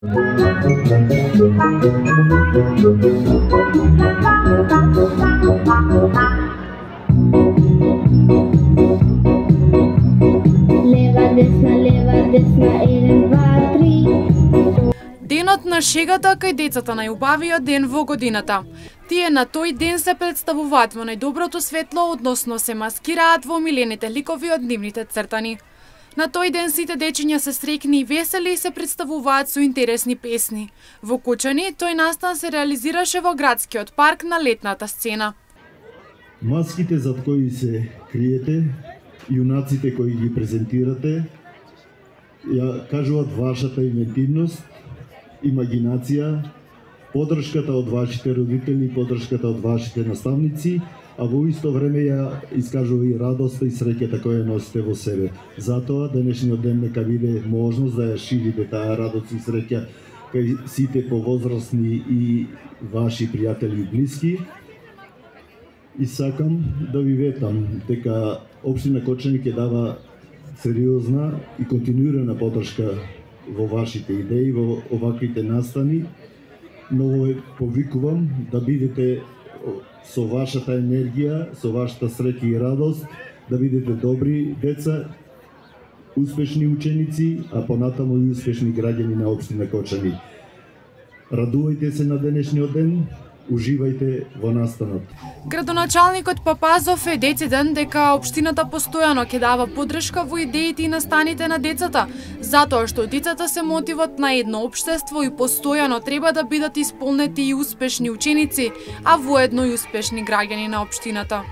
Лева, десна, 1, 2, 3. Денот на шегата кај децата, најубавиот ден во годината. Тие на тој ден се представуваат во најдоброто светло, односно се маскираат во омилените ликови од нивните цртани. На тој ден сите дечиња се среќни и весели и се представуваат со интересни песни. Во Кучани тој настан се реализираше во градскиот парк на летната сцена. Маските зад кои се криете, јунаците кои ги презентирате, ја кажуваат вашата инвентивност, имагинација, поддршката од вашите родители, поддршката од вашите наставници, а во исто време ја искажува и радоста и среќата која ја носите во себе. Затоа денешниот ден нека биде можност да ја ширите таа радост и среќа кај сите повозрастни и ваши пријатели и блиски. И сакам да ви ветам дека Општина Кочани ќе дава сериозна и континуирана поддршка во вашите идеи, во оваквите настани, но ве повикувам да бидете со вашата енергија, со вашата среќа и радост, да бидете добри деца, успешни ученици, а понатаму и успешни граѓани на Општина Кочани. Радувајте се на денешниот ден, уживајте во настанот. Градоначалникот Папазов е дециден дека општината постојано ќе дава поддршка во идеите и настаните на децата, затоа што децата се мотивот на едно општество и постојано треба да бидат исполнети и успешни ученици, а воедно и успешни граѓани на општината.